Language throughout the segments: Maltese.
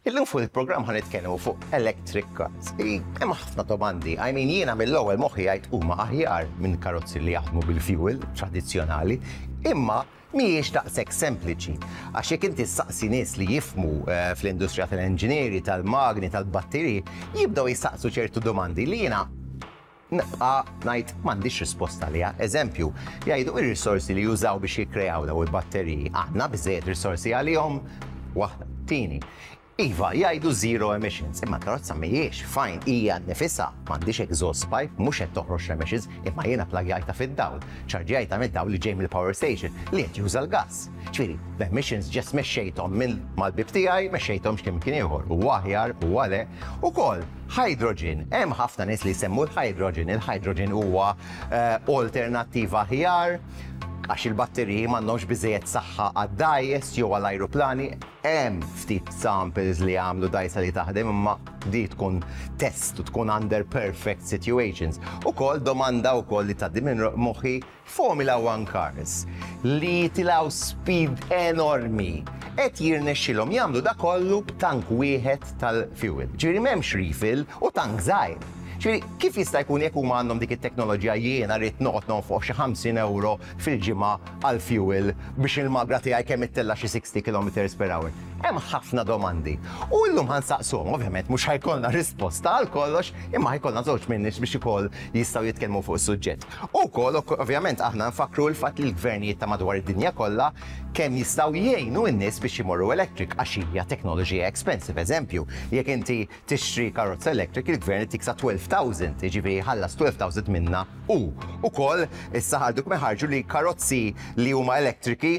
Illum fuq il-programm ħa nitkellmu fuq electric cars. Hemm ħafna domandi. I mean jiena mill-ewwel moħħi jgħid huma aħjar minn karozzi li jaħdmu bil-fuel tradizzjonali, imma mhijiex daqshekk sempliċi. Għax jekk inti ssaqsi nies li jifhmu fl-industrija tal-enġinieri, tal-magni, tal-batteriji, jibdew jistaqsu ċertu domandi li jiena nibqa' ngħid m'għandix risposta għaliha. Eżempju, jgħidu ir-risorsi li jużaw biex jikkreaw daw il-batteriji, għandna biżejjed risorsi għalihom? Waħda. Tieni, iva, jgħidu zero emissions, imma l-karozza mhijiex, fine, hija nnifisha, m'għandhiex exhaust pipe, mhux qed toħroġ l-emissions, imma jiena plagjajtha fid-dawl, ċarġjajtha mid-dawl li ġej mill-power station li qed juża l-gass. Ġifieri, l-emissions just mexxejthom minn mal-bieb tiegħi, mexxejthom x'imkien ieħor. Huwa aħjar, huwa le. Ukoll, hydrogen, hemm ħafna nies li jsemmu l-hydrogen, il-hydrogen huwa alternattiva aħjar għax il-batteriji m'għandhomx biżejjed saħħa għad-dgħajjes jew għall-ajruplani. Hemm ftit samples li għamlu dgħajsa li taħdem imma di tkun test u tkun under perfect situations. Ukoll domanda wkoll li tgħaddi minn moħħi Formula One cars li jitilgħu speed enormi qed jirnexxilhom jagħmlu da kollu b'tank wieħed tal-fuel. Ġifieri m'hemmx refill u tank żgħir. Ġifieri kif jista' jkun jekk huma għandhom dik it-teknoloġija jiena rrid noqgħod nonfoq xi 50 ewro fil-ġimgħa għall-fuel biex il-magra tiegħi kemm ittella' xi 60 kilometers per hour. Hemm ħafna domandi. U llum ħa nsaqsuhom, ovvjament mhux ħa jkollna risposta għal kollox, imma ħa jkollna żewġ min-nies biex ukoll jistgħu jitkellmu fuq is-suġġett. U wkoll ovvjament aħna nfakkru l-fatt li l-gvernijiet ta' madwar id-dinja kollha kemm jistgħu jgħinu n-nies biex imorru electric għax hija teknoloġija expensive. Eżempju, jekk inti tixtri karozza electric il-gvern itik sa 12,000, jiġifieri jħallas 12,000 minnha hu. Ukoll issa ħarġu kemm ħarġu li karozzi li huma elettriki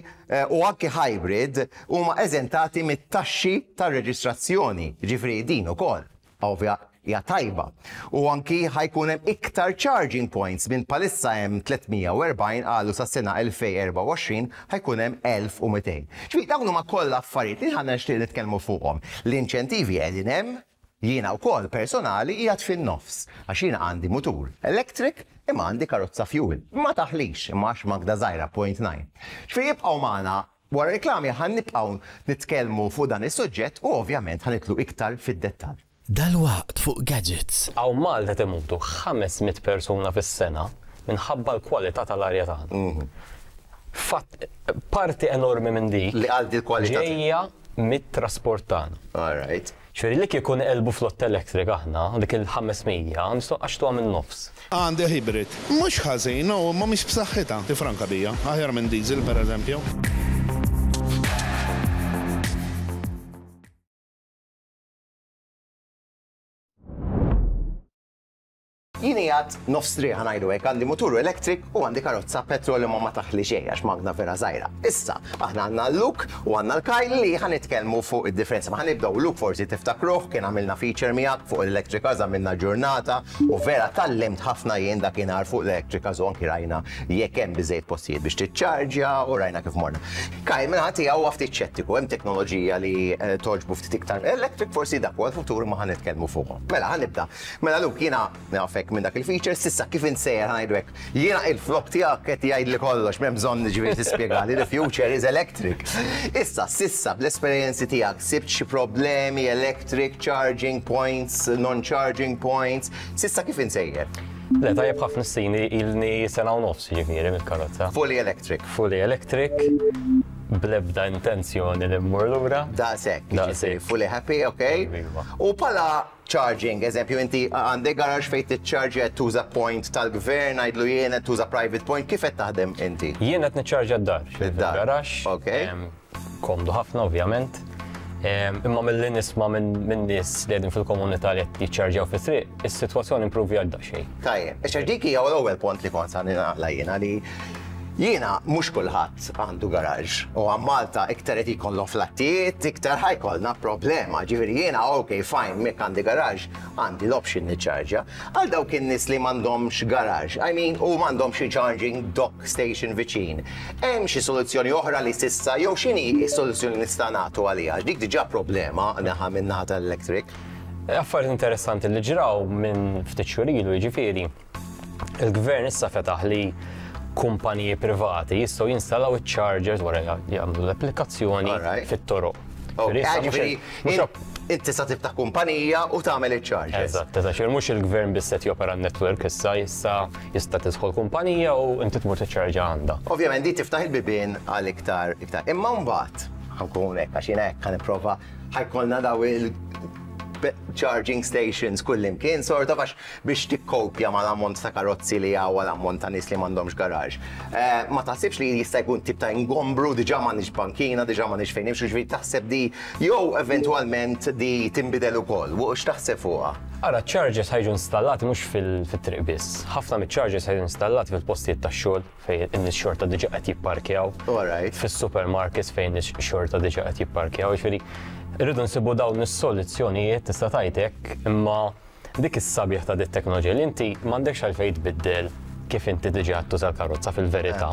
u anki hybrid huma eżentati mit-taxxi tar-reġistrazzjoni. Jiġifieri din ukoll ovvja hija tajba. U anki ħa jkun hemm iktar charging points minn bħalissa hemm 340 qalu sas-sena 2024 ħa jkun hemm 1200. Ġifieri dawn huma kollha affarijiet li aħna nixtieq nitkellmu fuqhom. L-inċentivi qegħdin hemm, jiena wkoll personali qiegħed fin-nofs għax jiena għandi mutur electric imma għandi karozza fuel. Ma taħlix imma għax magna żgħira 0.9. Ġifieri ibqgħu magħna wara reklami ħa nibqgħu nitkellmu fuq dan is-suġġett u ovvjament ħa nidħlu iktar fid-dettall. Dalwaqt fuq Gadgets. Hawn Malta qed imutu 500 persuna fis-sena minħabba l-kwalità tal-arja tagħna. Fatt, parti enormi minn dik Li għal dil-kwalità ġejja mit-trasport tagħna. All right. Ġifieri li kieku nqelbu flotta electric aħna, dik il-500 nistgħu nqaxxtuha min-nofs. Għandi hybrid. Mhux ħażin, no, imma mhix b'saħħitha. Tifranka bija. Aħjar minn diesel, pereżempju. Jien qiegħed nofs triq ħa ngħidu hekk, għandi mutur electric u għandi karozza petrol imma ma taħli xejn għax magna vera żgħira. Issa, aħna għandna l-Luke u għandna l-Kyle li ħa nitkellmu fuq id-differenza. Ma ħa nibdew Luke forsi tiftakruh, kien għamilna feature miegħek fuq l-electric cars, għamilna ġurnata u vera tgħallimt ħafna jien dakinhar fuq l-electric cars u anki rajna jekk hemm biżejjed postijiet biex tiċċarġja u rajna kif morna. Kyle minn tiegħu huwa ftit xettiku, hemm teknoloġija li togħġbu ftit iktar electric, forsi dak huwa l-futur ma ħa nitkellmu fuqhom. Mela ħa nibda. Mela Luke, jiena nafek minn dak il-feature, s'issa kif insejjer ħa ngħidu hekk. Jiena il-flok tiegħek qed jgħidli kollox, m'hemm bżonn ġifieri tispjegali, the future is electric. Issa, s'issa bl-esperjenzi tiegħek sibt xi problemi electric charging points, non-charging points, s'issa kif insejjer? Le, tajjeb ħafna s-sini ilni sena u nofs ġifieri mill-karozza. Fully electric. Fully electric, bl-ebda intenzjoni li mmur lura. Daqshekk, Daqshekk. fully happy, okay? Iva. U pala charging, eżempju, inti għandek garage fejn tiċċarġja qed tuża point tal-gvern, ngħidlu jien qed tuża private point, kif qed taħdem inti? Jien qed niċċarġja d-dar. Id-dar. Garaxx. Ok. Komdu ħafna ovvjament. Imma milli nisma' minn nies li qegħdin fil-komunità li qed jiċċarġjaw fit-triq, is-sitwazzjoni improvjat daqsxejn. Tajjeb, għax dik hija l-ewwel punt li kont sa naqla jiena li jiena mhux kulħadd għandu garage u għam Malta iktar qed jkollhom flattijiet, iktar ħa jkollna problema. Ġifieri jiena ok, fine, jekk għandi garage, għandi l-option niċċarġja. Għal dawk in-nies li m'għandhomx garage, I mean, u m'għandhomx xi charging dock station viċin. Hemm xi soluzzjoni oħra li s'issa jew x'inhi s-soluzzjoni nista' nagħtu għaliha? Dik diġà problema naħa minn naħa tal-electric. Affarijiet interessanti li ġraw minn ftit xhur ilu, jiġifieri, il-gvern issa fetaħ li kumpaniji privati jistgħu jinstallaw iċ-chargers wara jagħmlu l-applikazzjoni fit-toroq. Ġifieri inti sa tiftaħ kumpanija u tagħmel iċ-chargers. Eżatt, eżatt, mhux il-gvern biss qed jopera n-network issa, issa jista' tidħol kumpanija u inti tmur tiċċarġa għandha. Ovvjament di tiftaħ il-bibien għal iktar iktar. Imma mbagħad ħa nkun hekk għax jiena hekk ħa nipprova ħa jkollna daw il charging stations kullimkien sort of għax biex tikkopja mal-ammont ta' karozzi li hawn l-ammont ta' nies li m'għandhomx garaxx. Ma taħsibx li jista' jkun tip ta' ingombru, diġà m'għandniex bankina, diġà m'għandniex fejn nimxu, ġifieri taħseb di jew eventwalment di tinbidel ukoll, u x'taħseb fuqha? Ara, chargers ħa jiġu installati mhux fit-triq biss. Ħafna miċ-chargers ħa jiġu installati fil-postijiet tax-xogħol fejn in-nies xorta diġà qed jipparkjaw. Fis-supermarkets fejn nies xorta diġà qed jipparkjaw. Ġifieri rridu nsibu dawn is-soluzzjonijiet tista' tgħid hekk, imma dik is-sabiħ ta' dit teknoloġija li inti m'għandekx għalfejn tbiddel kif inti diġà tuża l-karozza fil-verità.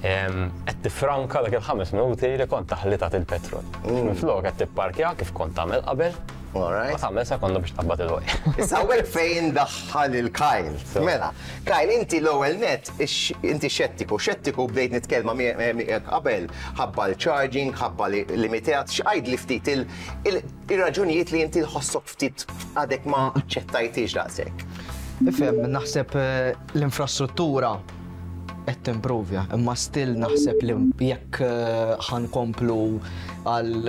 Qed tifranka dak il-5 minuti li kont taħli tagħti il-petrol. Minflok qed tipparkja kif kont tagħmel qabel. Ma tagħmel sekonda biex tqabbad il-waj. Issa hawnhekk fejn daħħal il-Kyle. Mela, Kyle, inti l-ewwel net inti xettiku, xettiku bdejt nitkellma miegħek qabel ħabba l-charging, ħabba li limitat, x'għid li ftit ir-raġunijiet li inti tħossok ftit għadek ma aċċettajtix daqshekk. Ifhem, naħseb l-infrastruttura qed timprovja, imma still naħseb li jekk ħa nkomplu għal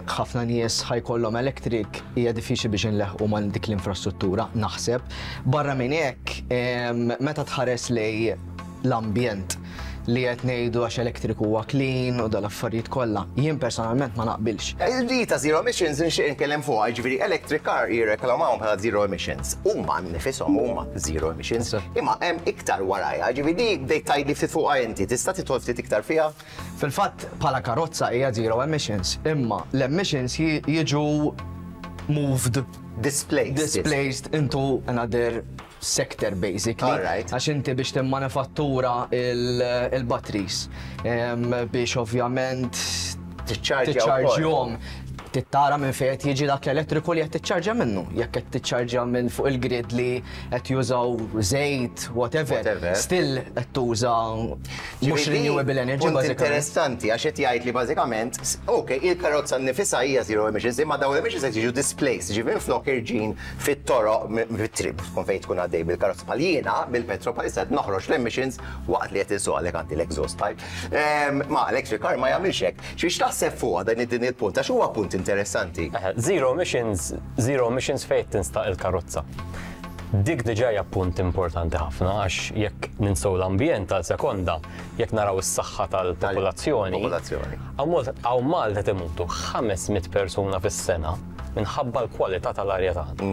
ħafna nies ħa jkollhom electric hija diffiċli biex inleħqu ma' dik l-infrastruttura, naħseb. Barra minn hekk, meta tħares lej l-ambjent li qed ngħidu għax electric huwa clean u dal-affarijiet kollha, jien personalment ma naqbilx. Di ta' zero emissions nixtieq nitkellem fuqha, jiġifieri electric car jirreklamawhom bħala zero emissions. Huma nifishom huma zero emissions, imma hemm iktar warajha, jiġifieri di bdejt tgħidli ftit fuqha inti, tista' tidħol ftit iktar fiha? Fil-fatt bħala karozza hija zero emissions, imma l-emissions jiġu moved displaced displaced into another sector basically. Għax inti biex timmanifattura il-batteries biex ovvjament tiċċarġjhom tittara minn fejn qed jiġi dak l-elettriku li qed tiċċarġja minnu. Jekk qed tiċċarġja minn fuq il-grid li qed jużaw żejt, whatever, still qed tuża mhux renewable energy. Punt interessanti għax qed jgħid li bażikament, ok, il-karozza nnifisha hija zero emissions, imma dawn l-emissions qed jiġu displaced, ġifieri minflok irġin fit-toroq fit-triq tkun fejn tkun għaddej bil-karozza bħal jiena bil-petrol bħalissa qed noħroġ l-emissions waqt li qed insuq għalhekk għandi l-exhaust pipe. Ma electric car ma jagħmilx hekk. Xiex taħseb fuqha dan din il-punt għax huwa punt interessanti. Zero emissions, zero emissions fejn tinstaq il-karozza. Dik diġà hija punt importanti ħafna għax jekk ninsew l-ambjent għal sekonda, jekk naraw is-saħħa tal-popolazzjoni. Hawn Malta timutu 500 persuna fis-sena minħabba l-kwalità tal-arja tagħna.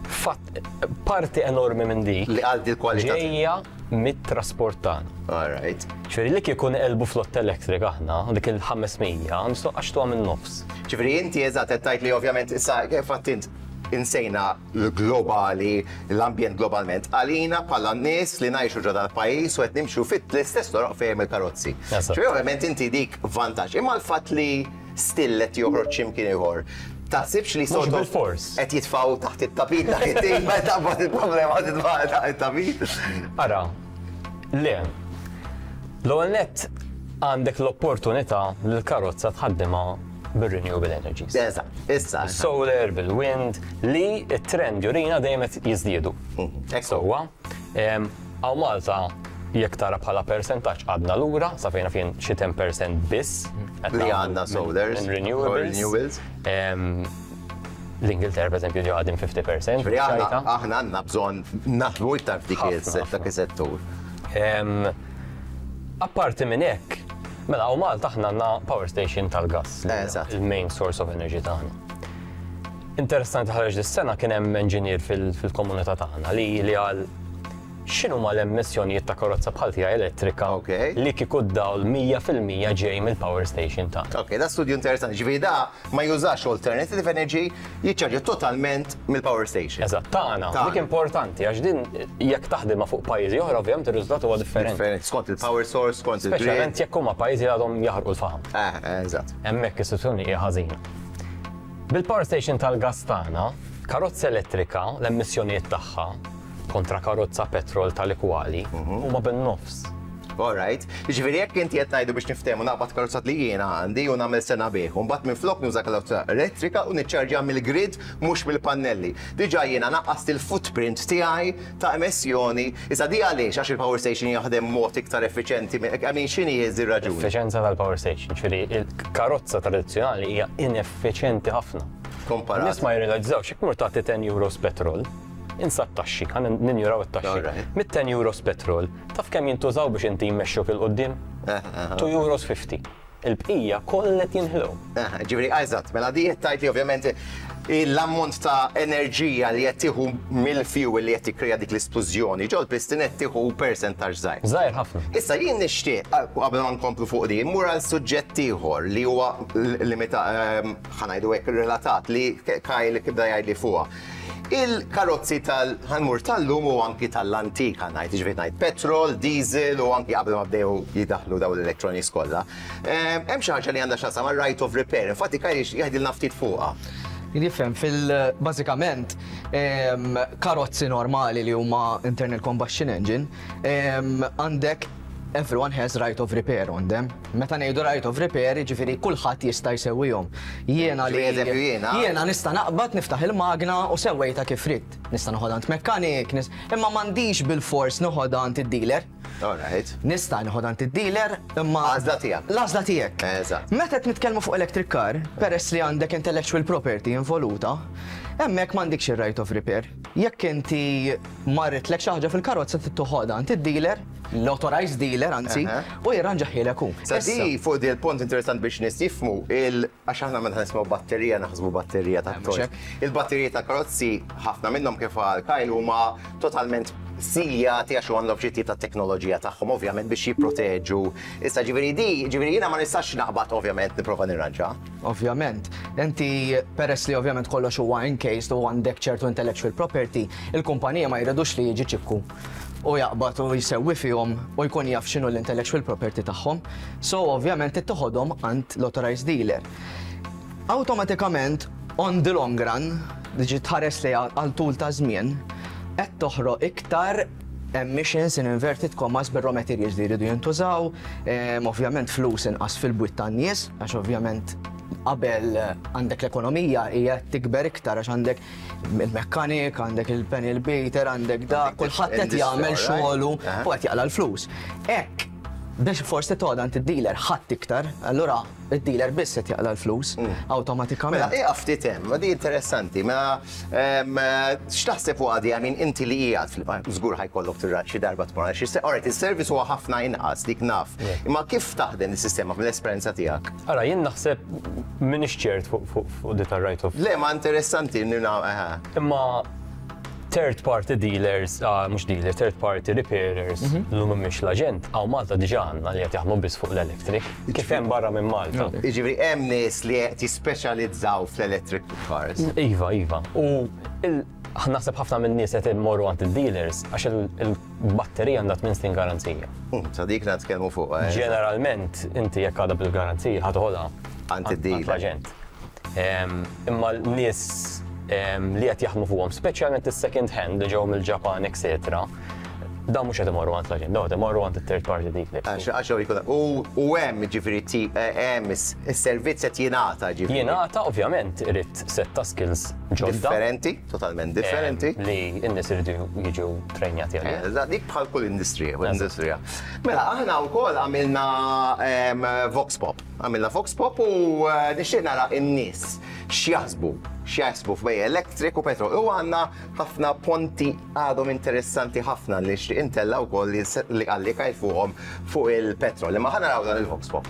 Fatt, parti enormi minn dik li għal il-kwalità ġejja mit-trasport tagħna. All right. Ġifieri li kieku nqelbu flotta electric aħna, dik il-500, nistgħu għaxtuha minn nofs. Ġifieri inti eżatt qed tgħid li ovvjament issa kif int insejna l-globali, l-ambjent globalment, għalina bħala nies li ngħixu ġo dal-pajjiż u qed nimxu fit l-istess toroq fejn il-karozzi. Ġifieri ovvjament inti dik vantaġġ. Imma l-fatt li still qed joħroġ x'imkien ieħor. Taħsibx li sort bil-fors qed jitfgħu taħt it-tapit dak it-tim meta taqbad il-problema titfa' taħt it-tapit? Ara, le. L-ewwel nett għandek l-opportunità li l-karozza tħaddimha bil-renewable energies. Eżatt, issa. Solar, bil-wind, li t-trend jurina dejjem qed jiżdiedu. Sewwa, hawn Malta jekk tara bħala percentaġġ għadna lura, sa fejna fien xi 10% biss. Li għandna solars. Renewables. L-Ingilterra, per eżempju, ġo għadin 50%. Aħna għandna bżonn naħdmu iktar f'dik is-settur. Apparti minn hekk, mela hawn Malta aħna għandna power station tal-gas. Il-main source of energy tagħna. Interessanti ħareġ dis-sena kien hemm engineer fil-komunità tagħna li qal x'inhuma l-emissjonijiet ta' karozza bħal tiegħi elettrika li kieku d-dawl 100% ġej mill-power station tagħna. Ok, da studju interessanti. Ġifieri da ma jużax alternative energy, jiċċarġja totalment mill-power station. Eżatt, tagħna. Dik importanti għax din jekk taħdimha fuq pajjiżi oħra ovvjament ir-riżultat huwa differenti. Skont il-power source, skont il-grid. Speċjalment jekk huma pajjiżi li għadhom jaħarqu l-faħam. Eżatt. Hemmhekk is-sitwazzjoni hija ħażina. Bil-power station tal-gas tagħna, karozza elettrika l-emissjonijiet tagħha kontra karozza petrol tal-ikwali huma bin-nofs. All right. Jiġifieri jekk inti qed ngħidu biex niftehmu naqbad karozza li jiena għandi u nagħmel sena bih, u mbagħad minflok nuża karozza elettrika u niċċarġja mill-grid mhux mill-pannelli. Diġà jiena naqqast il-footprint tiegħi ta' emissjoni. Issa di għaliex? Għax il-power station jaħdem mod iktar effiċjenti, I mean x'inhi r-raġuni? Effiċjenza tal-power station, ġifieri il-karozza tradizzjonali hija ineffiċjenti ħafna. Komparat. Nies ma jirrealizzawx jekk mur tagħti 10 euros petrol, insa t-taxxi, ħa ninjuraw it-taxxi. Mit-10 euros petrol, Taf kemm jintużaw biex inti jmexxuk 'il quddiem? 2 euros 50. Il-bqija kollha qed jinħlew. Ġifieri, eżatt, mela di qed tgħid li ovvjament l-ammont ta' enerġija li qed tieħu mill-fuel li qed tikkrea dik l-isplużjoni ġol-piston qed tieħu persentaġġ żgħir. Żgħir ħafna. Issa jien nixtieq, qabel ma nkomplu fuq din, immur għal suġġett ieħor li huwa limita ħa ngħidu hekk relatat li Kyle bda jgħidli fuqha. Il-karozzi tal ħa nmur tal-lum u anki tal-antik ħa ngħid, jiġifieri ngħid petrol, diesel u anki qabel ma bdew jidaħlu dawn l-electronics kollha. Ehm, hemm xi ħaġa li għandha x'taqsam mar-right of repair, infatti Kyle jgħidilna ftit fuqha. Nifhem fil bażikament ehm, karozzi normali li huma internal combustion engine ehm, għandek everyone has right of repair on them. Meta ngħidu right of repair, jiġifieri kulħadd jista' jsewwihom. Jiena li Eżempju jiena. Jiena nista' naqbad niftaħ il-magna u sewwejtha kif ridt. Nista' noħodha għand mekkanik, imma m'għandix bilfors noħodha għand id-dealer. All right. Nista' noħodha għand id-dealer, imma. Għażla tiegħek. L-għażla tiegħek. Eżatt. Meta qed nitkellmu fuq electric car, peress li għandek intellectual property involuta, hemmhekk m'għandikx ir-right of repair. Jekk inti marritlek xi ħaġa fil-karozza trid toħodha għand id-dealer, l-authorized dealer anzi, u jirranġahielek hu. Sa di fuq di l-punt interessant biex nies jifhmu il għax aħna meta nisimgħu batterija naħsbu batterija ta' toys. Il-batteriji ta' karozzi ħafna minnhom kif qal Kyle huma totalment siljati għax għandhom xi tip ta' teknoloġija tagħhom ovvjament biex jipproteġu. Issa ġifieri di, ġifieri jiena ma nistax naqbad ovvjament nipprova nirranġa. Ovvjament. Inti peress li ovvjament kollox huwa encased u għandek ċertu intellectual property, il-kumpanija ma jridux li jiġi ċikku u jaqbad u jsewwi fihom u jkun jaf x'inhu l-intellectual property tagħhom. So ovvjament trid toħodhom għand l-authorized dealer. Awtomatikament on the long run, ġi tħares lejha għal tul ta' żmien, qed toħroq iktar emissions in inverted commas bir-raw materials li jridu jintużaw, ovvjament flus inqas fil-bwiet tan-nies, għax ovvjament qabel għandek l-ekonomija hija tikber iktar għax għandek il-mekkanik, għandek il-panel beater, għandek da, kulħadd qed jagħmel xogħlu u qed jaqla' l-flus. Hekk biex forsi toqgħod għand id-dealer ħadd iktar, allura id-dealer biss qed jaqla' l-flus awtomatikament. Mela, ieqaf ftit hemm, ma di interessanti, mela x'taħseb fuqha di, I mean inti li qiegħed fil żgur ħa jkollok xi darba tmur għal xi all right, is-service huwa ħafna inqas dik naf, imma kif taħdem is-sistema mill-esperjenza tiegħek? Ara, jien naħseb m'iniex ċert fuq di tar-right of. Le, ma interessanti eħe. Imma third party dealers, ah, mhux dealer, third party repairers, li mhumiex l-aġent, hawn Malta diġà għandna li qed jaħdmu biss fuq l-electric, kif hemm barra minn Malta. Jiġifieri hemm nies li qed jispeċjalizzaw fl-electric cars. Iva, iva. U naħseb ħafna minn nies qed imorru għand il-dealers għax il-batterija għandha 8 snin garanzija. Sa dik nitkellmu fuq. Ġeneralment inti jekk għadha bil-garanzija ħa toħodha għand id-dealer. L-aġent. Imma l-nies li qed jaħdmu fuqhom, speċjalment is-second hand li ġew mill-Ġapan, etc. Dan mhux qed imorru għand l-aġent, dawn qed imorru għand it-third party dealer. Għax għax jkun u hemm ġifieri hemm is-servizz qed jingħata ġifieri. Jingħata ovvjament irid set ta' skills ġodda. Differenti, totalment differenti. Li n-nies iridu jiġu trejnjati għalih. Eżatt, dik bħal kull industrija, industrija. Mela aħna wkoll għamilna Vox Pop. Għamilna Vox Pop u nixtieq nara n-nies x'jaħsbu, x'jaħsbu f'bej electric u petrol. U għandna ħafna ponti għadhom interessanti ħafna li nixtieq intella wkoll li qalli Kyle fuqhom fuq il-petrol. Imma ħa naraw dan il-Vox Pop.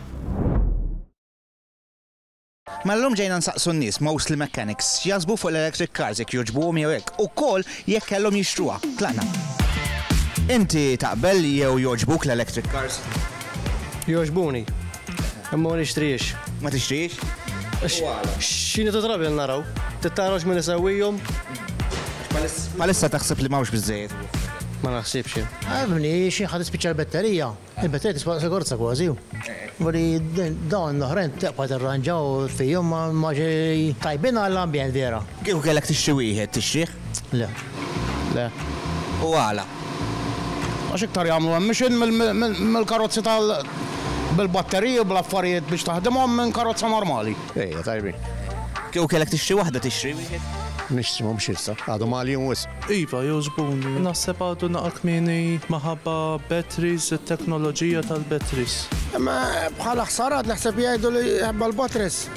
Mela llum ġejna nsaqsu n-nies, mostly mechanics, x'jaħsbu fuq l-electric cars, jekk jogħġbuhom jew hekk, ukoll jekk kellhom jixtruha. Tlaqna. Inti taqbel jew jogħġbuk l-electric cars? Jogħġbuni. Imma ma nixtrihiex. Ma tixtrihiex? X'inhi ta' trabi naraw. Tittarahx min isewwihom. Bħalissa taħseb li m'hawnx biżżejjed? Ma naħsibx jien. Għabni, xi ħadd tispiċċa l-batterija. Il-batterija tiswa daqs il-karozza kważi. Voli dawn l-oħrajn tibqa' tirranġa u fihom ma ġej tajbin għall-ambjent vera. Kieku kellek tixtri wieħed, tixtrih? Le. Le. U għala? Għax iktar jagħmlu emission mill-karozzi tal bil-batteriji u bl-affarijiet biex taħdimhom minn karozza normali. Ejja, tajbin. Kieku kellek tixtri waħda tixtri wieħed? Nixtri mhux issa, għadhom għaljin wisq. Iva, jogħġbuni. Naħseb għadu naqa' kmieni maħabba batteries, it-teknoloġija tal-batteries. Imma bħala ħsarat naħseb jgħidu li ħabba l-batteries.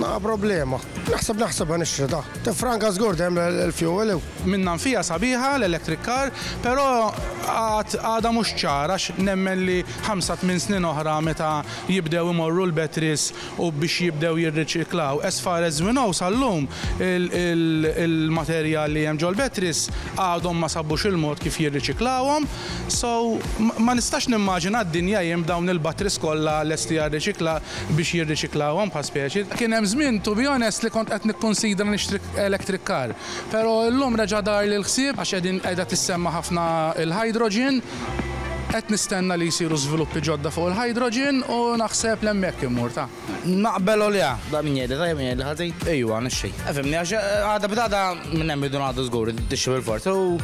Naqa' problema. Naħseb naħseb ħa nixtri ta. Tifranka żgur dejjem il-fuel. Minnha nfiha sabiħa l-electric car, però għad għadha mhux ċara għax nemmen li ħamsa tmien snin oħra meta jibdew imorru l-batteries u biex jibdew jirriċiklaw. As far as we know sal-lum il-materjal li hemm ġol-batteries għadhom ma sabux il-mod kif jirriċiklawhom. So ma nistax nimmaġina d-dinja jien b'dawn il-batteries kollha lesti għar-riċikla biex jirriċiklawhom bħal speċi. Kien hemm żmien, to be honest, li kont qed nikkunsidra nixtri electric car. Però llum reġa' darli l-ħsieb għax qegħdin qiegħda tissemma ħafna l-hydrogen. Qed nistenna li jsiru żviluppi ġodda fuq il-hydrogen u naħseb li hemmhekk immur ta. Naqbel u le. Da min jgħidli tajjeb min jgħidli ħażin. Ejwa, nixtri. Fimni għax għada b'għada minn hemm irridu ngħaddu żgur, tixtri bil-forz. U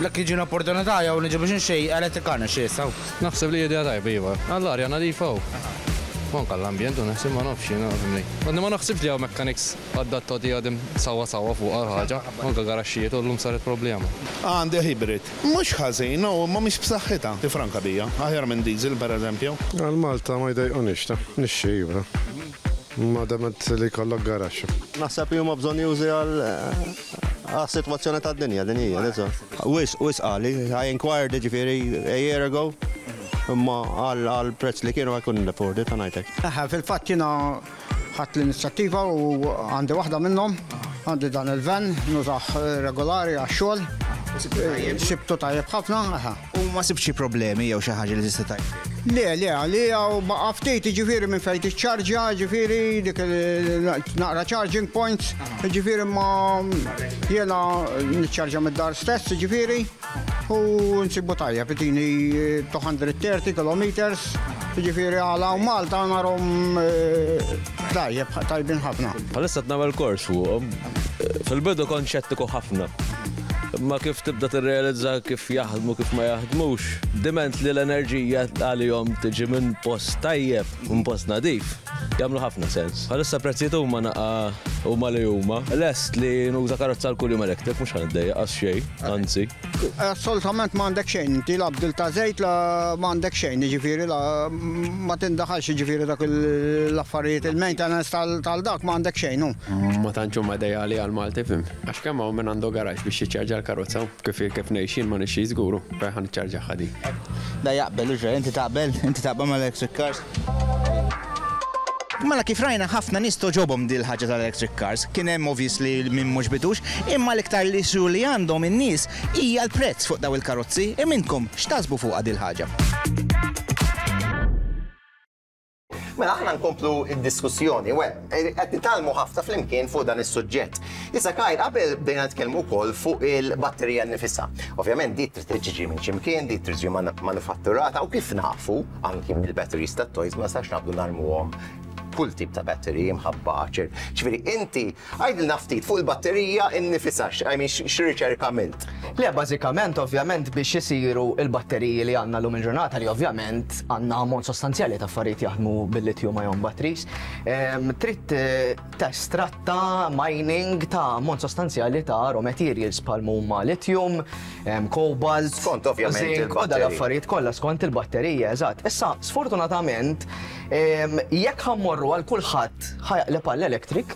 jekk jiġini opportunità jew niġi biex nixtri electric car nixtri issa. Naħseb li idea tajba iva. Għall-arja nadifa u u anke għall-ambjent u naħseb ma nafx jiena fimni. Għadni ma naħsibx li hawn mechanics adattati għadhom sewwa sewwa fuqha l-ħaġa. Anke garaxxijiet u llum saret problema. Għandi hybrid. Mhux ħażin, no, imma mhix b'saħħitha. Tifranka bija. Aħjar minn diesel, pereżempju. Għal Malta ma jdejqunix ta. Nixxi iva. Ma dament li jkollok garaxx. Naħseb li huma bżonnjużi għal għas-sitwazzjoni tad-dinja din hija, that's all. Wisq, wisq għali. I inquired jiġifieri a year ago, imma għal prezz li kienu I couldn't afford it, ħa ngħidlek. Eħe, fil-fatt jiena ħadt l-inizjattiva u għandi waħda minnhom, għandi dan il-van, nużah regolari għax-xogħol. Sibtu tajjeb ħafna, eħe. U ma sibtx xi problemi jew xi ħaġa li tista' tgħid? Le, le, għalija u baqa' ftit, jiġifieri minn fejn tiċċarġja, jiġifieri dik naqra charging points, jiġifieri ma jiena niċċarġja mid-dar stess, jiġifieri, u nsibu tajjeb, itini 230 kilometers, jiġifieri għal hawn Malta narhom tajjeb, tajbin ħafna. Bħalissa qed nagħmel kors fuqhom. Fil-bidu kont xettiku ħafna. Imma kif tibda tirrealizza kif jaħdmu kif ma jaħdmux, diment li l-enerġija għalihom tiġi minn post tajjeb, minn post nadif, jagħmlu ħafna sens. Bħalissa prezzijiet huma naqa huma li huma. Lest li nuża karozza għal kuljum electric mhux ħa niddejjaq għax xejn, anzi. Assolutament ma għandek xejn, inti la bdil ta' żejt la ma għandek xejn, jiġifieri la ma tindaħalx jiġifieri dak l-affarijiet il-maintenance tal-dak ma għandek xejn hu. Ma tantx huma ideali għal Malti, fim. Għax kemm hawn min għandu garaxx biex jiċċarġa l-karozza u kif kif ngħix jien ma nixtrix żgur u fejn ħa niċċarġaha di. Da jaqbel u inti taqbel? Inti taqbel mal-electric cars? Mela kif rajna ħafna nies togħġobhom din il-ħaġa tal-electric cars. Kien hemm obviously min mhux bitux, imma l-iktar l-issue li għandhom in-nies hija l-prezz fuq daw il-karozzi. Imma intkom x'taħsbu fuqha din il-ħaġa? Mela aħna nkomplu id-diskussjoni, well, qed nitgħallmu ħafna flimkien fuq dan is-suġġett. Issa Kyle, qabel bdejna nitkellmu wkoll fuq il-batterija nnifisha. Ovvjament di trid tiġi minn x'imkien, di trid tiġi manufatturata u kif nafu anki mill-batteries tat-toys ma nistax naqbdu narmuhom kull tip ta' battery imħabba ċer. Ġifieri inti għidilna ftit fuq il-batterija innifisha, I mean x'riċerka għamilt? Le, bażikament, ovvjament, biex isiru il-batteriji li għandna llum il-ġurnata li ovvjament għandna ammont sostanzjali ta' affarijiet jaħdmu bil-lithium ion batteries, trid testratta mining ta' ammont sostanzjali ta' raw materials bħal huma lithium, cobalt, skont ovvjament zinc, u dal-affarijiet kollha skont il-batterija, eżatt. Issa, sfortunatament, jekk ħa mmorru għal kulħadd ħa jaqleb għall-electric,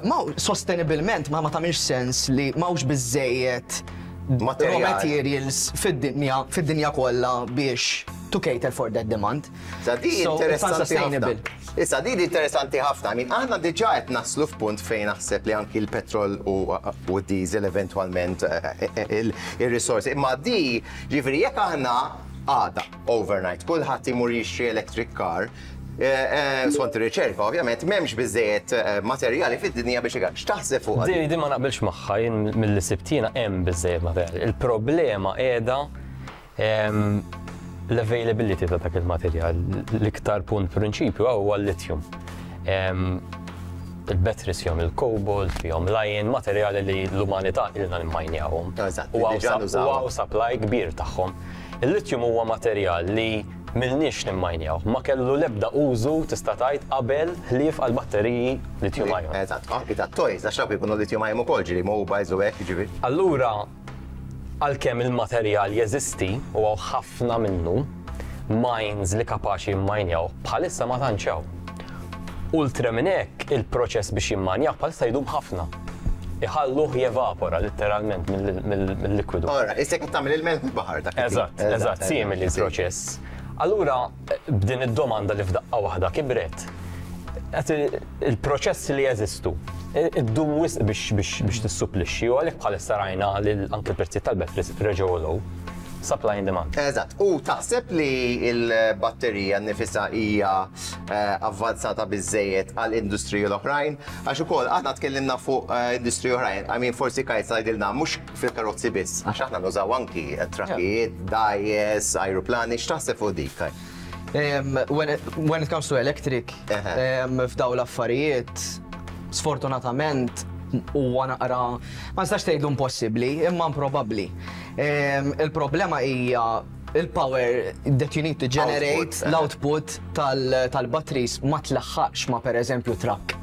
ma sostenibilment ma tagħmilx sens li m'hawnx biżejjed raw materials fid-dinja fid-dinja kollha biex to cater for that demand. Sa di interessanti ħafna. Issa di interessanti ħafna. I mean, aħna diġà qed naslu f'punt fejn naħseb li anki l-petrol u d-diesel eventwalment il-risorsi. Imma di, ġifieri jekk aħna għada overnight kulħadd imur jixtri electric car, skont ir-riċerka ovvjament m'hemmx biżejjed materjali fid-dinja biex ikar. X'taħseb fuq? Di ma naqbilx magħha jien milli sibtina hemm biżejjed materjali. Il-problema qiegħda l-availability ta' dak il-materjal. L-iktar punt prinċipju huwa l-lithium. Il-batteries fihom il-cobalt, fihom l-iron, materjali li l-umanità ilna nimmajnjawhom. U hawn supply kbir tagħhom. Il-lithium huwa materjal li m'ilniex nimmajnjaw. Ma kellu l-ebda użu tista' tgħid qabel ħlief għal batteriji lithium ion. Eżatt, anki tat-toys, għax dawk ikunu lithium ion ukoll, ġieli mobiles u hekk, jiġifieri. Allura, għalkemm il-materjal jeżisti u hawn ħafna minnu, mines li kapaċi jimmajnjaw, bħalissa ma tantx hawn. Oltre minn hekk, il-proċess biex jimmanjah bħalissa jdum ħafna. Iħalluh jevapora litteralment mill-likwidu. Ora, issa qed tagħmel il-melħ mill-baħar dak. Eżatt, eżatt, simili l-proċess. Allura, b'din id-domanda li f'daqqa waħda kibret, il-proċessi li jeżistu, iddum wisq biex tissupplixxi u għalhekk bħalissa rajna li anke l-prezzijiet tal-batteries reġgħu għolew. Supply and demand. Eżatt. U taħseb li l-batterija nnifisha hija avvanzata biżżejjed għal industriji l-oħrajn? Għax ukoll aħna tkellimna fuq industriji oħrajn, I mean forsi Kajs tgħidilna mhux fil-karozzi biss, għax aħna nużaw anki trakkijiet, dgħajjes, ajruplani, x'taħseb fuq dik, Kaj? When it, when it comes to electric, f'daw l-affarijiet, sfortunatament huwa naqra, ma nistax tgħidlu impossibbli, imma improbabbli. Il-problema hija il-power that you need to generate, l-output tal-batteries ma tlaħħaqx ma per eżempju truck.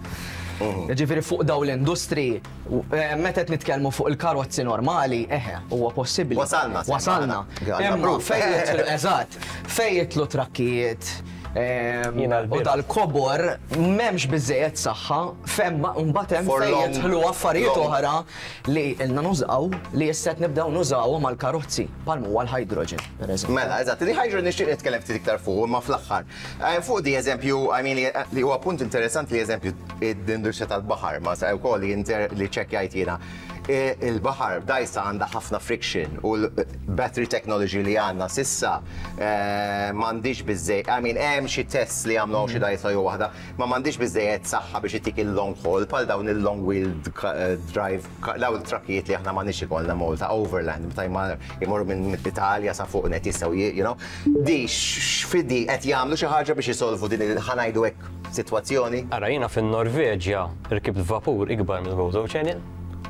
Ġifieri fuq daw l-industri, meta qed nitkellmu fuq il-karozzi normali, eħe, huwa possibbli. Wasalna. Wasalna. Imma fejn jidħlu, eżatt, fejn jidħlu trakkijiet u dal-kobor m'hemmx biżejjed saħħa, mbagħad hemm fejn jidħlu affarijiet oħra li ilna nużaw li issa qed nibdew nużawhom għall-karozzi, bħal huwa l-hydrogen, pereżempju. Mela, eżatt, il-hydrogen nixtieq nitkellem ftit iktar fuq, imma fl-aħħar. Fuq di eżempju, I mean, li huwa punt interessanti li eżempju id-industrija tal-baħar, ma sa wkoll li li ċekkjajt jiena. Il-baħar dgħajsa għandha ħafna friction u l-battery technology li għandna sissa m'għandix biżżejjed, I mean, hemm xi tests li għamlu xi dgħajsa jew waħda, ma m'għandix biżżejjed saħħa biex ittik il-long haul bħal dawn il-long wheel drive, dawn il-trakkijiet li aħna m'għandniex ikollna Malta, overland, meta jmorru minn Italja sa fuq net jistgħu, you know. Di x'fidi qed jagħmlu xi ħaġa biex isolvu din il ħa ngħidu hekk sitwazzjoni? Ara jiena fin-Norveġja rkibt vapur ikbar mill-Gozo Channel,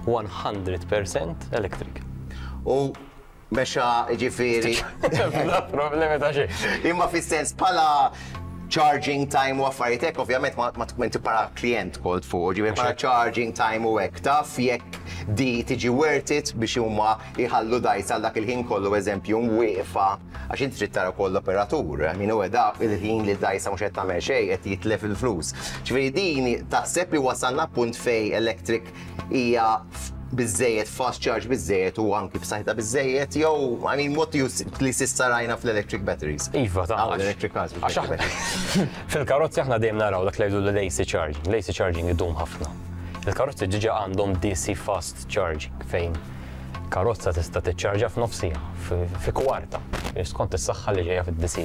100% electric. U mexa jiġifieri. Bla problemi ta' xejn. Imma fis-sens bħala charging time u affarijiet hekk ovvjament ma tkun inti bħala klient kolt fuq, ġifieri bħala charging time u hekk taf jekk di tiġi worth it biex huma jħallu dgħajsa għal dak il-ħin kollu eżempju wieqfa għax inti trid tara wkoll l-operatur, I mean huwa dak il-ħin li d-dgħajsa mhux qed tagħmel xejn qed jitlef il-flus. Ġifieri din taħseb li wasalna punt fejn electric hija biżżejjed fast charge biżżejjed u anki b'saħħitha biżżejjed jew I mean what do you li s'issa rajna fl-electric batteries? Iva, ta' electric cars. Fil-karozzi aħna dejjem naraw dak li jgħidu l-AC charging. L-AC charging idum ħafna. Il-karozzi diġà għandhom DC fast charging fejn karozza tista' tiċċarġa f'nofs siegħa, fi kwarta, skont is-saħħa li ġejja fid-DC.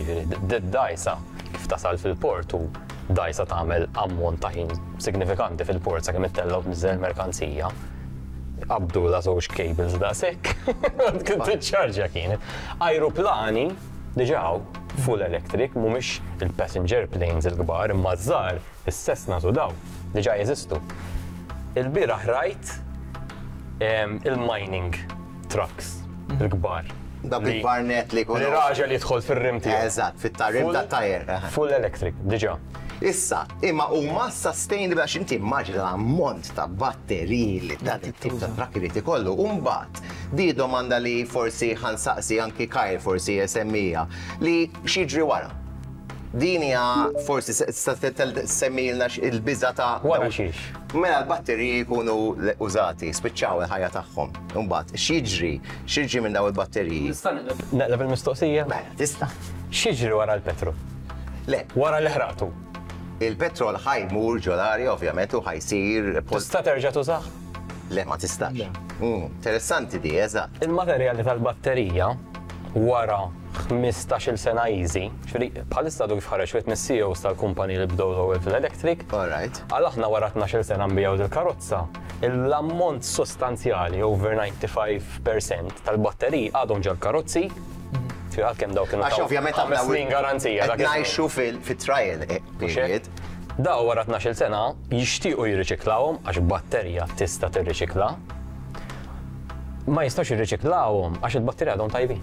Dgħajsa kif tasal fil-port u dgħajsa tagħmel ammont ta' ħin signifikanti fil-port sakemm ittella' u tniżżel il-merkanzija. Qabdulha żewġ cables daqshekk, kien tiċċarġja kienet. Ajruplani diġà hawn full electric, mhumiex il-passenger planes il-kbar imma ż-żgħar, is-Cessnas u dawn, diġà jeżistu. Ilbieraħ rajt il-mining trucks il-kbar. Dawk il-kbar net li jkunu. Li raġel jidħol fir-rim tiegħu. Eżatt, fit-rim tat-tajer. Full electric, diġà. Issa, imma huma sustainable għax inti immaġina l-ammont ta' batteriji li dan it-tip ta' trakk irid ikollu. U mbagħad, di domanda li forsi ħa nsaqsi anki Kyle forsi jsemmija, li x'jiġri wara? Din hija forsi tista' semmilna il-biża' ta' Wara xiex? Mela l-batteriji jkunu użati, spiċċaw il-ħajja tagħhom. Imbagħad x'jiġri? X'jiġri minn dawn il-batteriji? Nista' neqleb il-mistoqsija? Mela, tista'. X'jiġri wara l-petrol? Le. Wara li ħraqtu? Il-petrol ħa jmur ġol-arja ovvjament u ħa jsir. Tista' terġa' tużah? Le, ma tistax. Interessanti di, eżatt. Il-materjali tal-batterija wara 15-il sena easy, ġifieri bħalissa għadu kif ħareġ wieħed mis-CEOs tal-kumpaniji li bdew l-ewwel fl-electric, għal aħna wara 12-il sena nbigħu dil-karozza, l-ammont sostanzjali, over 95% tal-batteriji għadhom ġol-karozzi, ġifieri għalkemm dawk kienu Għax ovvjament ħames snin garanzija. Qed ngħixu fit-trial period. Daw wara 12-il sena jixtiequ jirriċiklawhom għax batterija tista' tirriċikla. Ma jistgħux jirriċiklawhom għax il-batterija għadhom tajbin.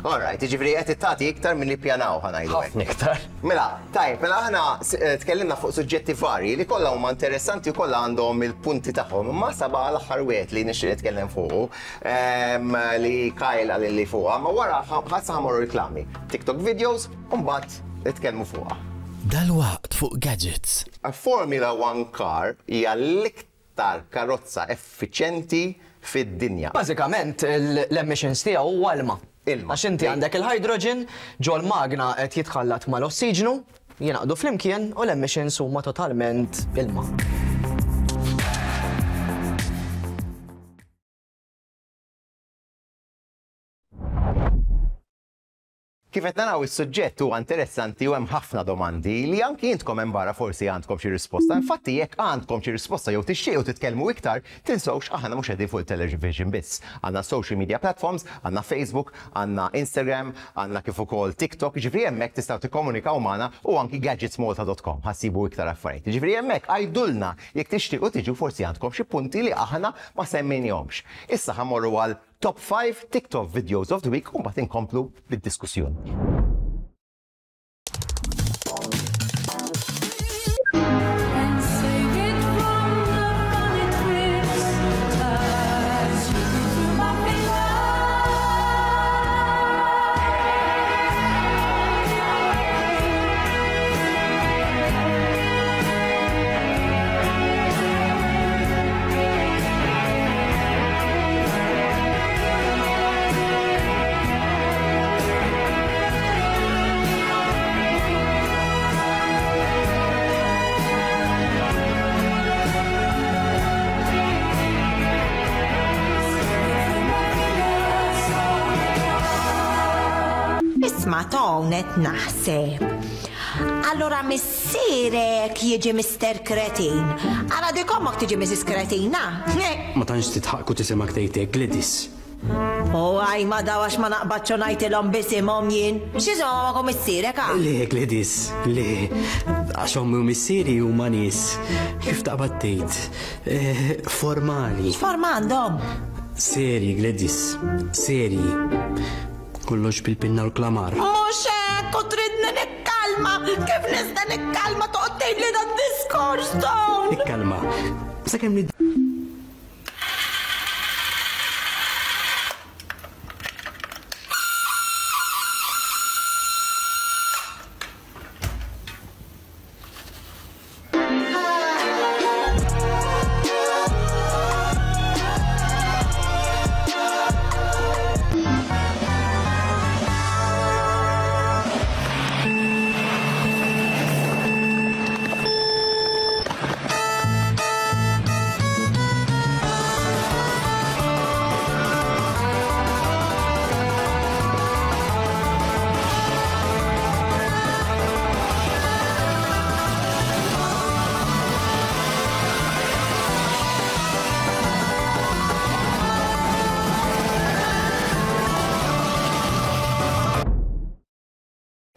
All right, jiġifieri qed tagħti iktar milli ppjanaw ħa ngħidu hekk. Ħafna iktar. Mela, tajjeb, mela aħna eh, tkellimna fuq suġġetti varji li kollha huma interessanti u kollha għandhom il-punti tagħhom. Imma saba l-aħħar wieħed li nixtieq nitkellem fuqu ehm, li Kyle qal li fuqha, ma wara ħassa ħamorru reklami. TikTok videos u mbagħad nitkellmu fuqha. Dalwaqt fuq Gadgets. A Formula One car hija l-iktar karozza effiċjenti fid-dinja. Bażikament l-emissions tiegħu huwa ilma. Ilma. Għax inti għandek il-hydrogen ġol-magna qed jitħallat mal-ossiġnu, jingħaqdu flimkien u l-emissions huma totalment ilma. Kif qed naraw is-suġġett huwa interessanti u hemm ħafna domandi li anki intkom hemm barra forsi għandkom xi risposta. Infatti jekk għandkom xi risposta jew tixtiequ titkellmu iktar, tinsewx aħna mhux qegħdin fuq it-television biss. Għandna social media platforms, għandna Facebook, għandna Instagram, għandna kif ukoll TikTok, jiġifieri hemmhekk tistgħu tikkomunikaw magħna u anki gadgetsmalta.com ħa ssibu iktar affarijiet. Jiġifieri hemmhekk għidulna jekk tixtiequ tiġu forsi għandkom xi punti li aħna ma semmejnihomx. Issa ħa mmorru għal Top 5 TikTok videos of the week u mbagħad inkomplu bid-diskussjoni. Isma' Tone qed naħseb. Allura missierek jiġi Mister Kretin. Ara dik ommok tiġi Mrs. Kretina. Ma tantx titħaq u tisimgħek tgħid hekk, Gladys. U għaj ma daw għax ma naqbadx u ngħidilhom b'isimhom jien. X'isimhom ommok u missierek ha? Le, Gladys, le. Għax ommi u missieri huma nies, kif taqbad tgħid, eh, formali. X'forma għandhom? Serji, Gladys, serji. Kollox bil-pinna u l-klamar. Mhux hekk u tridni nikkalma! Kif nista' nikkalma toqgħod tgħidli dan diskors dawn? Ikkalma. Sakemm nid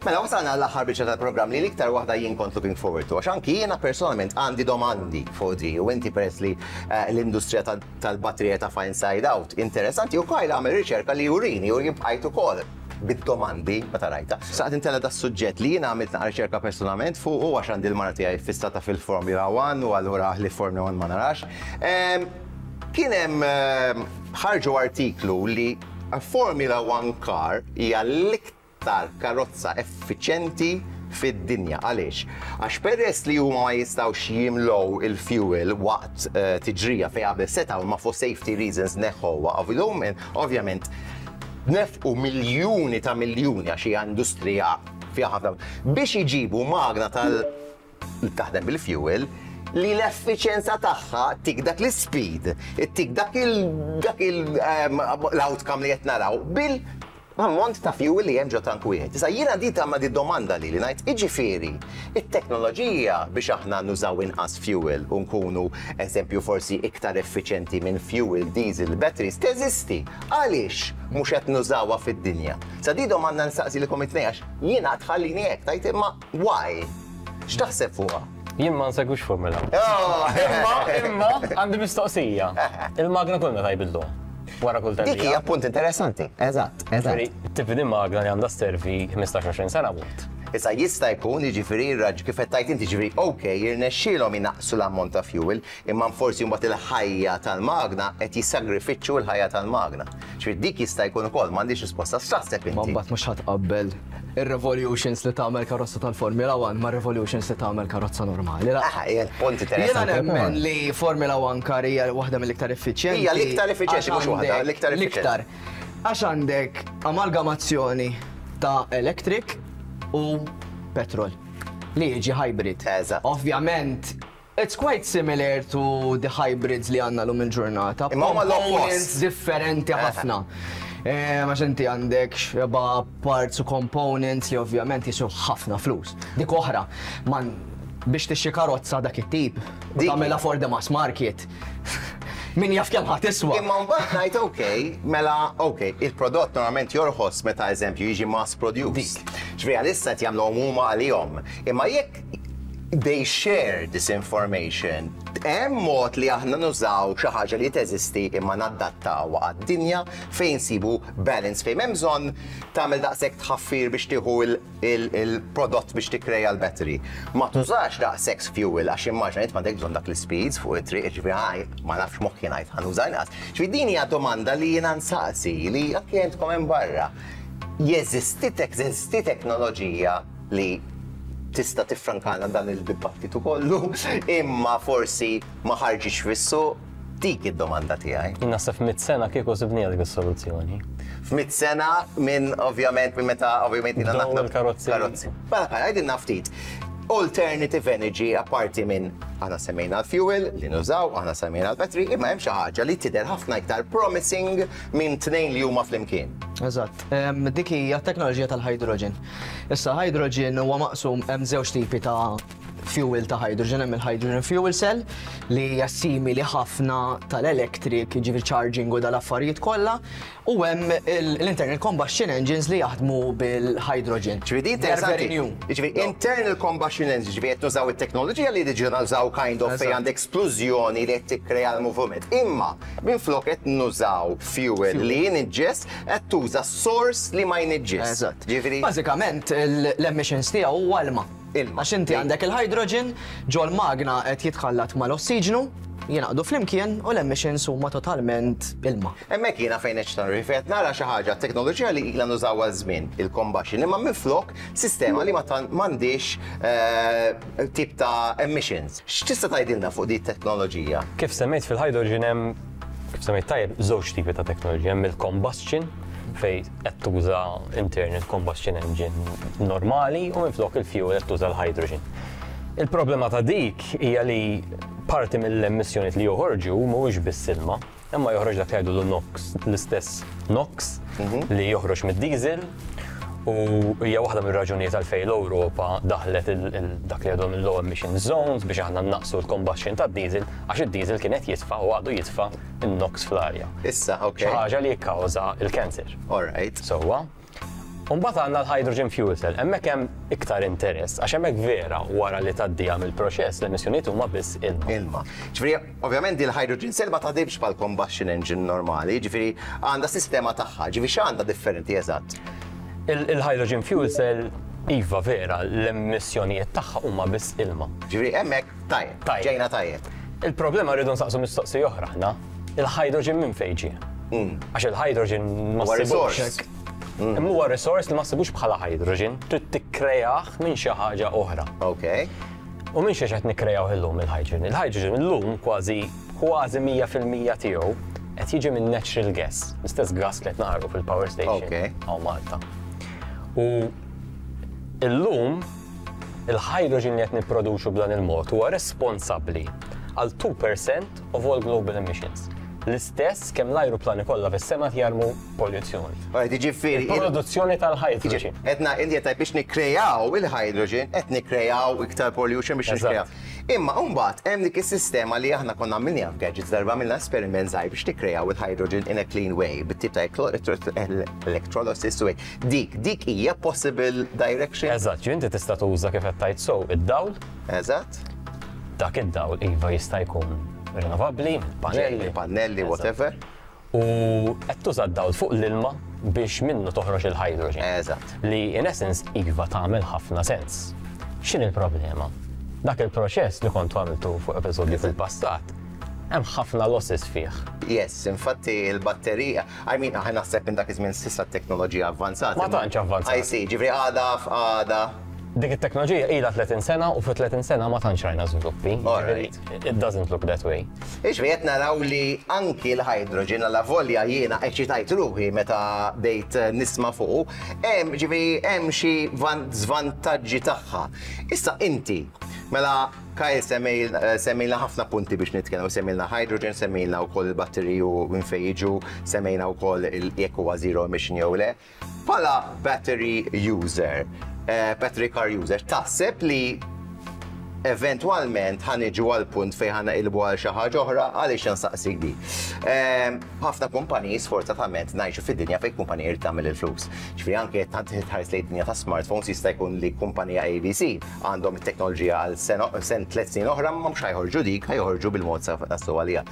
Mela wasalna l-aħħar biċċa tal-programm li l-iktar waħda jien kont looking forward to għax anki jiena personalment għandi domandi fuq di u inti peress li eh, l-industrija tal-batterija ta' fine side out interessanti u Kyle għamel riċerka li jurini u jien bqajt ukoll bid-domandi meta rajta. Saqt intella da suġġett li jiena għamilt naqra riċerka personalment fuq u għax għandi l-mara tiegħi fissata fil-Formula 1 u allura li Formula 1 ma narax. Ehm, kien hemm ehm, ħarġu artiklu li Formula 1 car hija l-iktar karozza effiċjenti fid-dinja. Għaliex? Għax peress li huma ma jistgħux jimlow il-fuel waqt eh, tiġrija fejn qabel setgħu ma for safety reasons neħħuha ovvjament nefqu miljuni ta' miljuni għax hija industrija fiha ħafna biex iġibu magna tal taħdem bil-fuel li l-effiċenza tagħha tik dak l-speed, tik dak il dak il ehm, l-outcome li qed naraw bil ammont ta' fuel li hemm ġo tank wieħed. Issa jiena di tagħmel di domanda li li ngħid iġifieri it-teknoloġija biex aħna nużaw inqas fuel u nkunu eżempju forsi iktar effiċenti minn fuel diesel batteries teżisti. Għaliex mhux qed nużawha fid-dinja? Sa di domanda nistaqsilkom it-tnejn għax jiena tħallini hekk tgħid imma why? X'taħseb fuqha? Jien ma nsegwix Formula 1. Oh! Imma, imma, għandi mistoqsija. Il-magna kull meta jbidluha? Wara kull Dik hija punt interessanti. Eżatt, eżatt. Tibni magna li għandha sservi 15-20 sena wont. Issa jista' jkun jiġifieri raġ kif qed tgħid inti jiġifieri ok jirnexxielhom inaqqsu l-ammont ta' fuel imma forsi mbagħad il-ħajja tal-magna qed jissagrifiċċu l-ħajja tal-magna. Ġifieri dik jista' jkun ukoll m'għandix risposta x'taħseb Ma inti? mbagħad mhux ħa tqabbel ir-revolutions li tagħmel karozza tal-Formula 1 ma' revolutions li tagħmel karozza normali. La. Ah, hija punt Jiena interessanti. nemmen li Formula 1 car hija waħda mill-iktar effiċjenti. Hija l-iktar effiċjenti, għax mhux waħda, għandek l-iktar effiċjenti. L-iktar. Għax għandek amalgamazzjoni ta' electric u petrol li jiġi hybrid. Eżatt. Ovvjament, it's quite similar to the hybrids li għandna llum il-ġurnata. Imma huma low cost. Components differenti ħafna. Għax inti għandek xeba parts u components li ovvjament jiswew ħafna flus. Dik oħra, man biex tixtri karozza dak it-tip u tagħmilha for the mass market. Min jaf kemm ħa tiswa. Imma mbagħad ngħid ok, mela ok, il-prodott normalment jorħos meta eżempju jiġi mass produced. Ġifieri għalissa qed jagħmluhom huma għalihom. Imma jekk they share this information, hemm mod li aħna nużaw xi ħaġa li teżisti imma nadattawha għad-dinja fejn sibu balance fejn hemm bżonn tagħmel daqshekk tħaffir biex tieħu il-prodott biex tikkreja l-battery. Ma tużax daqshekk fuel għax immaġina int m'għandek bżonn dak l-speeds fuq it-triq, ġifieri ħaj, ma nafx moħħi ngħid ħa nuża inqas. Ġifieri din hija domanda li jiena nsaqsi li anke intkom hemm barra. Jeżisti teżisti teknoloġija li tista' tiffrankana dan il-dibattitu kollu, imma forsi ma ħarġitx fis-suq? Dik id-domanda tiegħi. Jien naħseb f'100 sena kieku sibniha dik is-soluzzjoni. F'100 sena minn ovvjament minn meta ovvjament jiena Bdew naħdem il-karozzi. Karozzi. Mela għidilna ftit. Alternative energy apparti minn aħna semmejna l-fuel li nużaw, aħna semmejna l-battery, imma hemm xi ħaġa li tidher ħafna iktar promising minn tnejn li huma flimkien. Eżatt. Dik hija t-teknoloġija tal-hydrogen. Issa hydrogen huwa maqsum hemm żewġ tipi ta' fuel ta' hydrogen, hemm il-hydrogen fuel cell li hija simili ħafna tal-electric, jiġifieri charging u dal-affarijiet kollha, u hemm l-internal combustion engines li jaħdmu bil-hydrogen. Ġifieri din They are very interessanti. new. Ġifieri internal combustion engine, ġifieri qed nużaw it-teknoloġija li diġà nużaw kind of fejn għandek esplużjoni li qed tikkrea l-movement. Imma minflok qed nużaw fuel li jniġġes, qed tuża source li ma jniġġes. Eżatt. Ġifieri Bażikament l-emissions tiegħu huwa ilma. Ilma. Għax inti għandek il-hydrogen ġol magna qed jitħallat mal-ossiġnu, jingħaqdu flimkien u l-emissions huma totalment ilma. Hemmhekk jiena fejn qed nara fejn nara xi ħaġa teknoloġija li ilha nużaw għal żmien il-combustion imma minflok sistema li ma m'għandix tip ta' emissions. X'tista' tgħidilna fuq din it-teknoloġija? Kif semmejt fil-hydrogen hemm kif semmejt tajjeb żewġ tipi ta' teknoloġija, hemm il-combustion fej qed tuża internal combustion engine normali u minflok il-fuel qed tuża l-hydrogen. Il-problema ta' dik hija li parti mill-emissjonijiet li joħorġu mhuwiex biss ilma, imma joħroġ dak li jgħidu NOx, l-istess NOx li joħroġ mid-diesel u hija waħda mir-raġunijiet għalfejn l-Ewropa daħlet dak li għadhom il-low emission zones biex aħna naqsu l-combustion tad-diesel għax id-diesel kien qed jitfa' u għadu jitfa' in-NOx fl-arja. Issa, ok. Xi ħaġa li jikkawża il-cancer. All right. Sewwa. Mbagħad għandna l-hydrogen fuel cell, hemmhekk hemm iktar interess, għax hemmhekk vera wara li tgħaddiha mill-proċess l-emissjonijiet huma biss ilma. Ilma. Ġifieri, ovvjament il-hydrogen cell ma taħdimx bħal combustion engine normali, ġifieri għandha sistema tagħha, ġifieri x'għandha differenti eżatt? Il-hydrogen fuel cell iva vera, l-emissjonijiet tagħha huma biss ilma. Ġifieri hemmhekk tajjeb, ġejna tajjeb. Il-problema rridu nsaqsu mistoqsija oħra aħna, il-hydrogen minn fejn ġie? Għax il-hydrogen ma Huwa ssibux. resource. Imma huwa resource li ma ssibux bħala hydrogen, trid tikkreah minn xi ħaġa oħra. Ok. U minn xiex qed nikkrejaw illum il-hydrogen? Il-hydrogen illum kważi kważi 100% tiegħu qed jiġi minn natural gas, l-istess gas li qed naqru fil-power station hawn Malta. U illum il-hydrogen li qed nipproduċu b'dan il-mod huwa responsabbli għal 2% of all global emissions. L-istess kemm l-ajruplani kollha fis-sema jarmu polluzzjoni. Alright, jiġifieri. Il-produzzjoni tal-hydrogen. Etna, inti qed biex nikkrejaw il-hydrogen, qed nikkrejaw iktar pollution biex nikkrejaw. Imma mbagħad hemm dik is-sistema li aħna konna għamilniha f'gadgets darba għamilna esperiment żgħir biex nikkrejaw il-hydrogen in a clean way, bit-tip ta' electrolysis way. Dik hija possible direction. Eżatt, inti tista' tuża kif qed tgħid so id-dawl. Eżatt. Dak id-dawl iva jista' jkun rinnovabbli, pannelli. Pannelli, whatever. U qed tuża d-dawl fuq l-ilma biex minnu toħroġ il-hydrogen. Eżatt. Li in essence iva tagħmel ħafna sens. X'inhi l-problema? Dak il-proċess li kontu għamiltu fuq episodju fil-passat, hemm ħafna losses fih. Yes, infatti il-batterija, I mean, aħna naħseb minn dak iż-żmien s'issa t-teknoloġija avvanzat. Ma tantx avvanzat. I see, ġifieri għada f'għada. Dik it-teknoloġija ilha 30 sena u fi 30 sena ma tantx rajna żviluppi. It doesn't look that way. Jiġifieri qed naraw li anki l-hydrogen allavolja jiena eċitajt ruħi meta bdejt nisma' fuqu, hemm ġifieri hemm xi żvantaġġi tagħha. Issa inti, mela Kyle semmejlna ħafna punti biex nitkellmu, semmejlna hydrogen, semmejlna wkoll il-batteriji u minn fejn jiġu, semmejna wkoll jekk huwa zero emission jew le. Bħala battery user, battery car user, taħseb li eventwalment ħa niġu għal punt fejn ħa naqilbu għal xi ħaġa oħra għaliex insaqsik di. Ħafna kumpaniji sfortunatament ngħixu fid-dinja fejn kumpanija jrid tagħmel il-flus. Ġifieri anke jekk tħares lejn id-dinja ta' smartphones jista' jkun li kumpanija ABC għandhom it-teknoloġija għal sen 3 snin oħra ma mhux ħajħorġu dik, ħajħorġu bil-mod sa għalija.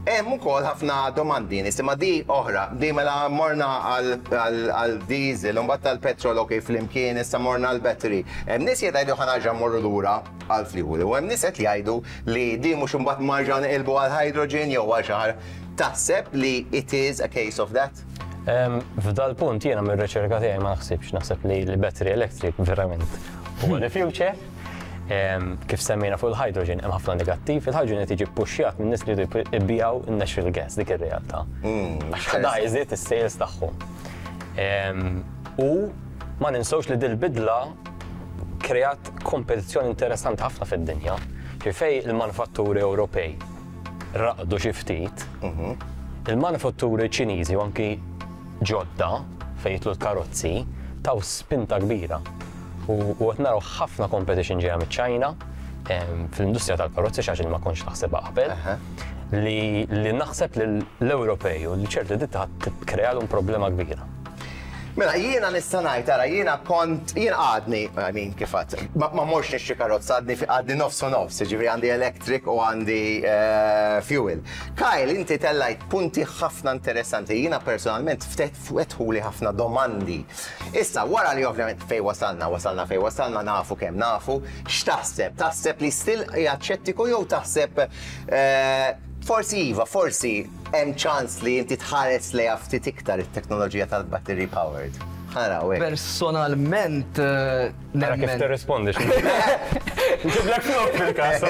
Hemm ukoll ħafna domandi nisimha di oħra, di mela morna għal diesel, u mbagħad tal-petrol ok flimkien, issa morna għal battery. Hemm nies jgħidu ħa nerġa' mmorru lura għal fuel u hemm nies qed jgħidu li di mhux imbagħad marġa' neqilbu għal hydrogen jew għal xi ħaġa. Taħseb li it is a case of that? F'dal punt jiena mir-riċerka tiegħi ma naħsibx, naħseb li l-battery electric verament huwa the future. Kif semmejna fuq il-hydrogen, hemm ħafna negattiv, il-hydrogen qed jiġi ppuxjat minn nies li jridu jbigħu n-natural gas, dik ir-realtà. Għax da jżid is-sales tagħhom. U ma ninsewx li dil-bidla kreat kompetizzjoni interessanti ħafna fid-dinja. Fej il-manufatturi Ewropej raqdu xi ftit, il-manufatturi Ċiniżi u anki ġodda fejn jidħlu l-karozzi taw spinta kbira. U qed naraw ħafna competition ġejja miċ-Ċina fl-industrija tal-karozzi xi ħaġa li ma kontx naħsebha qabel. Li, li naħseb li l-Ewropej u li ċerti ditta tikkrealhom problema kbira. Mela, jiena nista' ngħid, ara, jiena kont, jiena għadni, I mean, kif għad, ma ma morx nixtri karozza, għadni għadni nofs u nofs, jiġifieri għandi electric u għandi eh, fuel. Kyle, inti tellajt punti ħafna interessanti, jiena personalment ftet fetħuli ħafna domandi. Issa, wara li ovvjament fejn wasalna, wasalna fejn wasalna, nafu kemm nafu, x'taħseb? Taħseb li still qiegħed xettiku jew taħseb eh, forsi iva, forsi hemm ċans li inti tħares lejha ftit iktar it-teknoloġija tal-battery powered? Ħa naraw hekk. Personalment eh, Ara kif nemmen. tirrispondi. Ġiblek flok fil-każ.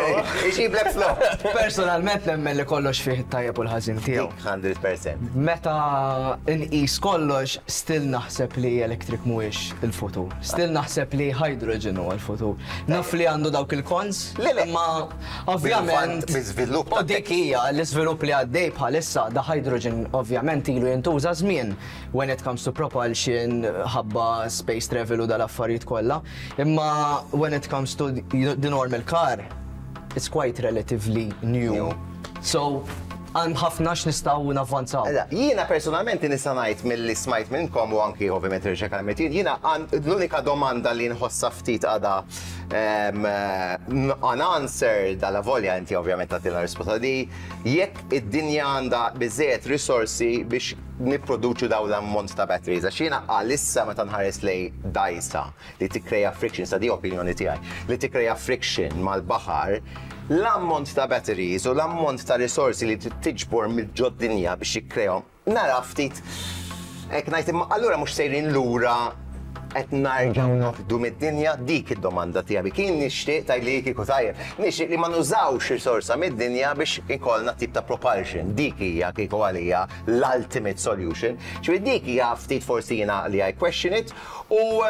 Iġiblek flok. Personalment nemmen li kollox fih it-tajjeb u l-ħażin tiegħu. 100%. Meta nqis kollox, still naħseb li electric mhuwiex il-futur. Still naħseb li hydrogen huwa l-futur. Naf li għandu dawk il-cons, imma ovvjament. Bi-żvilupp U dik hija l-iżvilupp li għaddej bħalissa da hydrogen ovvjament ilu jintuża żmien when it comes to propulsion ħabba space travel u dal-affarijiet kollha. Imma when it comes to the normal car, it's quite relatively new. So, hemm ħafna x'nistgħu navvanzaw. Mela, jiena personalment nista' ngħid milli smajt minnkom u anki ovvjament riċerka li għamilt jien, jiena l-unika domanda li nħossha ftit għadha unanswered alavolja inti ovvjament tagħtina risposta di, jekk id-dinja għandha biżżejjed risorsi biex nipproduċu dawn l-ammont ta' batteries. Għax jiena għalissa meta nħares lejn dgħajsa li tikkrea friction, sa di opinjoni tiegħi, li tikkrea friction mal-baħar, l-ammont ta' batteries u l-ammont ta' risorsi li trid tiġbor mill-ġod-dinja biex jikkrejahom, nara ftit hekk ngħid imma allura mhux sejrin lura qed narġgħu noħdu mid-dinja? Dik id-domanda tiegħi. Kien nixtieq tgħidli kieku tajjeb, nixtieq li ma nużawx risorsa mid-dinja biex ikollna tip ta' propulsion. Dik hija kieku għalija l-ultimate solution. Ġifieri dik hija ftit forsi jiena li I question it u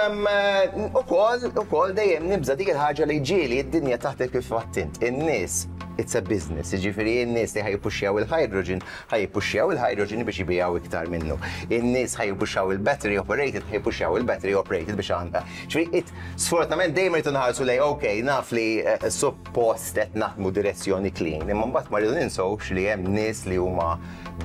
ukoll ukoll dejjem nibża' dik il-ħaġa li ġieli d-dinja taħdem kif għedt int. In-nies It's a business, jiġifieri n-nies li ħa jippuxxjaw il-hydrogen, ħa jippuxxjaw il-hydrogen biex jbigħu iktar minnu. In-nies ħa jippuxxjaw il-battery operated, ħa jippuxxjaw il-battery operated biex għandha. Ġifieri sfortunatament dejjem irridu nħarsu lejn ok, naf li suppost qed naħdmu direzzjoni clean, imma mbagħad ma rridu ninsewx li hemm nies li huma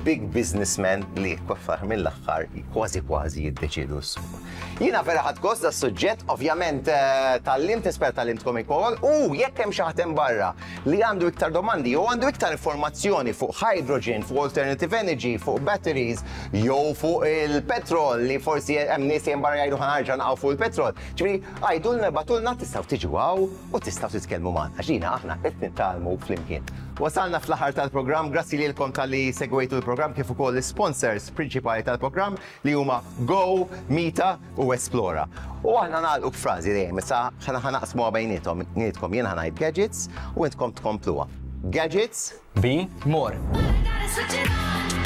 big businessmen li fl-aħħar mill-aħħar kważi kważi jiddeċiedu s-suq. Jiena vera ħadt gost das-suġġett, ovvjament tgħallimt, nispera tgħallimtkom ukoll, u jekk hemm xi ħadd hemm barra li għandu iktar domandi jew għandu iktar informazzjoni fuq hydrogen, fuq alternative energy, fuq batteries, jew fuq il-petrol li forsi hemm nies hemm barra jgħidu ħa nerġa' naqgħu fuq il-petrol. Ġifieri għidulna ibagħtulna tistgħu tiġu hawn u tistgħu titkellmu magħna. Għax jiena aħna qed nitgħallmu flimkien. Wasalna fl-aħħar tal-programm, grazzi lilkom talli segwejtu l-programm kif ukoll l-sponsors prinċipali tal-programm li huma Go, Mita u Esplora. U aħna nagħlqu b'frażi dejjem, issa ħa naqsmuha bejniethom, nietkom jien ħa ngħid gadgets u intkom tkompluha. Gadgets. Be. More. Switch it on.